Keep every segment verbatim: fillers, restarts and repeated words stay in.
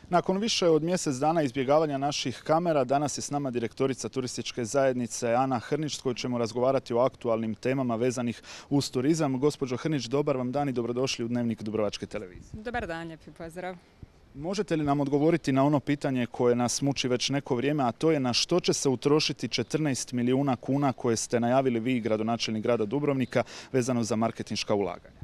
Nakon više od mjesec dana izbjegavanja naših kamera, danas je s nama direktorica turističke zajednice Ana Hrnić, s kojoj ćemo razgovarati o aktualnim temama vezanih uz turizam. Gospođo Hrnić, dobar vam dan i dobrodošli u Dnevnik Dubrovačke televizije. Dobar dan, lijepi pozdrav. Možete li nam odgovoriti na ono pitanje koje nas muči već neko vrijeme, a to je na što će se utrošiti četrnaest milijuna kuna koje ste najavili vi, gradonačelnik grada Dubrovnika, vezano za marketinška ulaganja?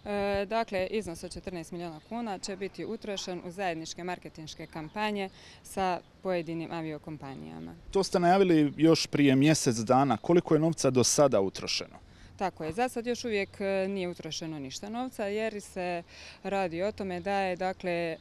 E, dakle, iznos od četrnaest milijuna kuna će biti utrošen u zajedničke marketinške kampanje sa pojedinim aviokompanijama. To ste najavili još prije mjesec dana. Koliko je novca do sada utrošeno? Tako je, za sad još uvijek nije utrošeno ništa novca jer se radi o tome da je dakle e,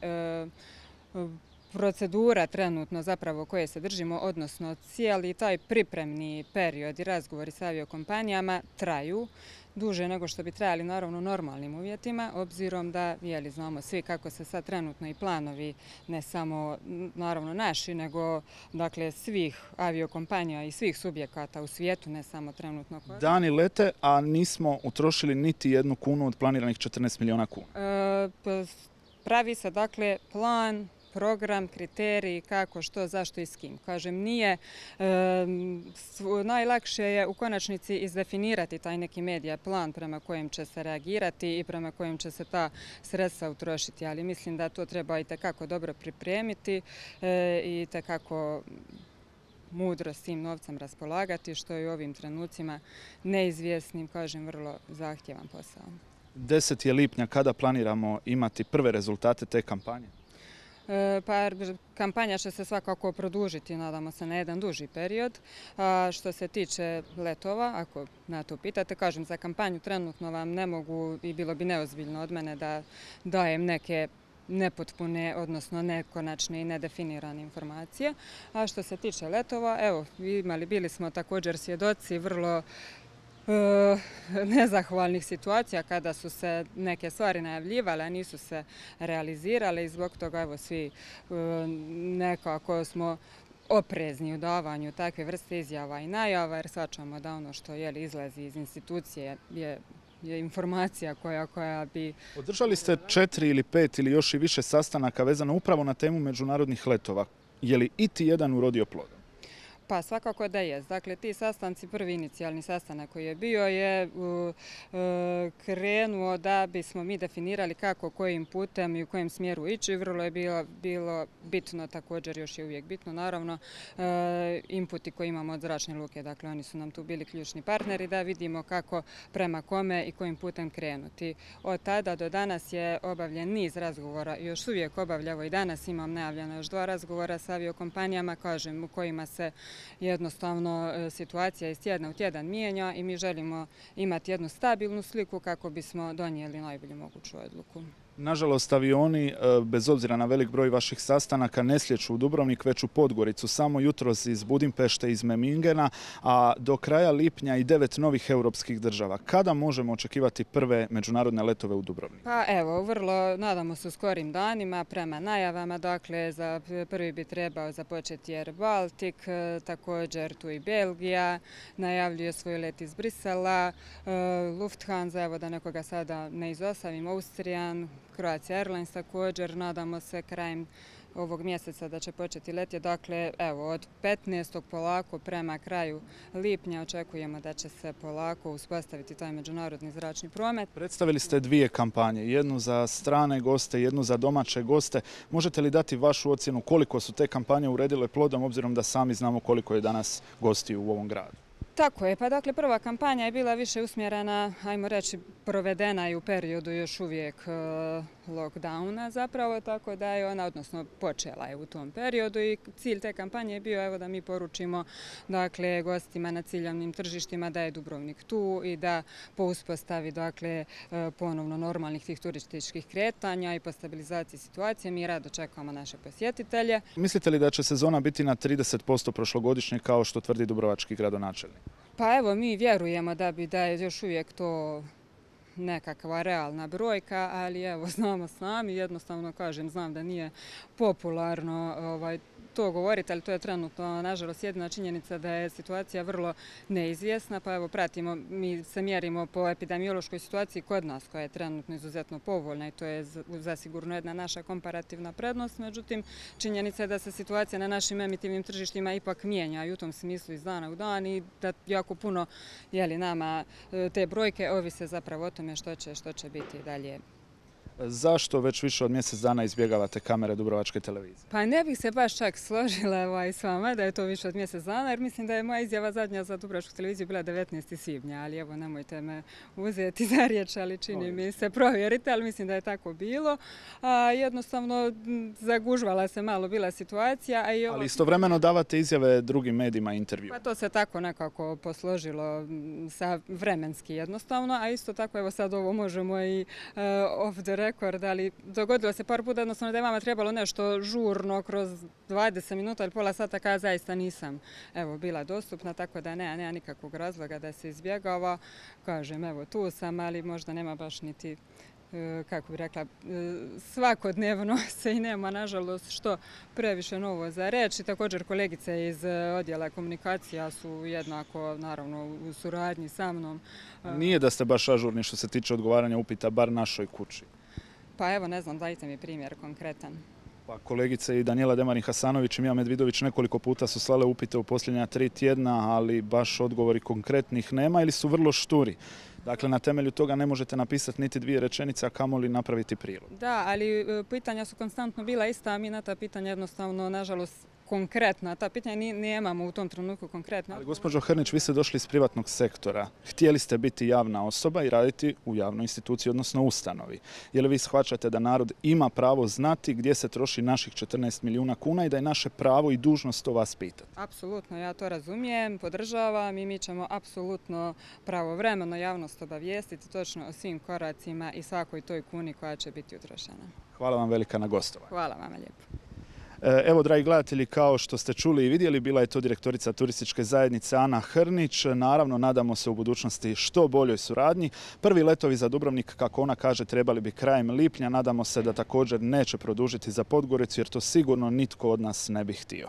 procedura trenutno zapravo koje se držimo, odnosno cijeli taj pripremni period i razgovori sa aviokompanijama traju duže nego što bi trajali naravno u normalnim uvjetima, obzirom da jeli, znamo svi kako se sad trenutno i planovi, ne samo naravno naši, nego dakle svih aviokompanija i svih subjekata u svijetu, ne samo trenutno. Dani lete, a nismo utrošili niti jednu kunu od planiranih četrnaest milijuna kuna. E, pravi se dakle plan, program, kriteriji, kako, što, zašto i s kim. Kažem, nije, e, najlakše je u konačnici izdefinirati taj neki medija plan prema kojem će se reagirati i prema kojem će se ta sredstva utrošiti, ali mislim da to treba i tekako dobro pripremiti e, i tekako mudro s tim novcem raspolagati, što je u ovim trenucima neizvjesnim, kažem, vrlo zahtjevan posao. deseti je lipnja, kada planiramo imati prve rezultate te kampanje? Pa kampanja će se svakako produžiti, nadamo se, na jedan duži period. A što se tiče letova, ako na to pitate, kažem, za kampanju trenutno vam ne mogu i bilo bi neozbiljno od mene da dajem neke nepotpune, odnosno nekonačne i nedefinirane informacije. A što se tiče letova, evo, imali, bili smo također svjedoci vrlo E, nezahvalnih situacija kada su se neke stvari najavljivale, a nisu se realizirale i zbog toga evo svi e, nekako smo oprezni u davanju takve vrste izjava i najava jer shvaćamo da ono što je izlazi iz institucije je je informacija koja, koja bi... Održali ste četiri ili pet ili još i više sastanaka vezano upravo na temu međunarodnih letova. Je li iti jedan urodio plodom? Pa svakako da jest. Dakle, ti sastanci, prvi inicijalni sastanak koji je bio je uh, krenuo da bismo mi definirali kako, kojim putem i u kojem smjeru ići. Vrlo je bilo, bilo bitno, također još je uvijek bitno, naravno, uh, inputi koje imamo od zračne luke. Dakle, oni su nam tu bili ključni partneri da vidimo kako, prema kome i kojim putem krenuti. Od tada do danas je obavljen niz razgovora i još uvijek obavljamo i danas imam najavljeno još dva razgovora sa aviokompanijama, kažem, u kojima se jednostavno situacija iz tjedna u tjedan mijenja i mi želimo imati jednu stabilnu sliku kako bismo donijeli najbolju moguću odluku. Nažalost, avioni, bez obzira na velik broj vaših sastanaka, ne slijeću u Dubrovnik, već u Podgoricu. Samo jutros iz Budimpešte, iz Memingena, a do kraja lipnja i devet novih europskih država. Kada možemo očekivati prve međunarodne letove u Dubrovnik? Pa evo, vrlo nadamo se u skorim danima prema najavama. Dakle, za prvi bi trebao započeti Air Baltic, također tu i Belgija, najavljuje svoj let iz Brisela, Lufthansa, evo da nekoga sada ne izostavim, Austrijan, Croatia Airlines također, nadamo se krajem ovog mjeseca da će početi letje. Dakle, evo, od petnaestog polako prema kraju lipnja očekujemo da će se polako uspostaviti taj međunarodni zračni promet. Predstavili ste dvije kampanje, jednu za strane goste, jednu za domaće goste. Možete li dati vašu ocjenu koliko su te kampanje uredile plodom, obzirom da sami znamo koliko je danas gostiju u ovom gradu? Tako je, pa dakle prva kampanja je bila više usmjerena, ajmo reći, provedena i u periodu još uvijek lockdowna zapravo, tako da je ona, odnosno počela je u tom periodu i cilj te kampanje je bio evo da mi poručimo dakle gostima na ciljavnim tržištima da je Dubrovnik tu i da po uspostavi dakle ponovno normalnih tih turističkih kretanja i po stabilizaciji situacije mi rado čekamo naše posjetitelje. Mislite li da će sezona biti na trideset posto prošlogodišnje kao što tvrdi dubrovački gradonačelnik? Pa evo, mi vjerujemo da bi da je još uvijek to nekakva realna brojka, ali evo, znamo sami, jednostavno kažem, znam da nije popularno ovaj, to govoriti, ali to je trenutno, nažalost, jedina činjenica da je situacija vrlo neizvjesna, pa evo pratimo, mi se mjerimo po epidemiološkoj situaciji kod nas, koja je trenutno izuzetno povoljna i to je zasigurno jedna naša komparativna prednost, međutim, činjenica je da se situacija na našim emitivnim tržištima ipak mijenja i u tom smislu iz dana u dan i da jako puno, jeli, nama te brojke ovise zapravo o tome što će, što će biti dalje. Zašto već više od mjesec dana izbjegavate kamere Dubrovačke televizije? Pa ne bih se baš čak složila ovaj, s vama da je to više od mjesec dana, jer mislim da je moja izjava zadnja za Dubrovačku televiziju bila devetnaestog svibnja, ali evo nemojte me uzeti za riječ, ali čini mi se, provjerite, ali mislim da je tako bilo. A, jednostavno zagužvala se malo bila situacija. A i ovo... Ali istovremeno davate izjave drugim medijima i intervju. Pa to se tako nekako posložilo sa vremenski jednostavno, a isto tako evo sad ovo možemo i uh, off the rekord, ali dogodilo se par puta jednostavno da je vama trebalo nešto žurno kroz dvadeset minuta ili pola sata kada zaista nisam evo, bila dostupna, tako da nema, nema nikakvog razloga da se izbjegava. Kažem, evo tu sam, ali možda nema baš niti, kako bih rekla, svakodnevno se i nema, nažalost, što previše novo za reći. Također kolegice iz odjela komunikacija su jednako, naravno, u suradnji sa mnom. Nije da ste baš ažurni što se tiče odgovaranja upita, bar našoj kući. Pa evo, ne znam, dajte mi primjer konkretan. Pa kolegice i Danijela Demarin-Hasanović i Mija Medvidović nekoliko puta su slale upite u posljednja tri tjedna, ali baš odgovori konkretnih nema ili su vrlo šturi. Dakle, na temelju toga ne možete napisati niti dvije rečenice, a kamoli napraviti prilog. Da, ali pitanja su konstantno bila ista, a mi na ta pitanja jednostavno, nažalost, konkretna. Ta pitanja nemamo u tom trenutku konkretno. Ali gospođo Hrnić, vi ste došli iz privatnog sektora. Htjeli ste biti javna osoba i raditi u javnoj instituciji, odnosno ustanovi. Je li vi shvaćate da narod ima pravo znati gdje se troši naših četrnaest milijuna kuna i da je naše pravo i dužnost to vas pitati? Apsolutno, ja to razumijem, podržavam i mi ćemo apsolutno pravovremeno javnost obavijestiti točno o svim koracima i svakoj toj kuni koja će biti utrošena. Hvala vam velika na gostovanju. Hvala vam lijepo. Evo, dragi gledatelji, kao što ste čuli i vidjeli, bila je to direktorica turističke zajednice Ana Hrnić. Naravno, nadamo se u budućnosti što boljoj suradnji. Prvi letovi za Dubrovnik, kako ona kaže, trebali bi krajem lipnja. Nadamo se da također neće produžiti za Podgoricu, jer to sigurno nitko od nas ne bi htio.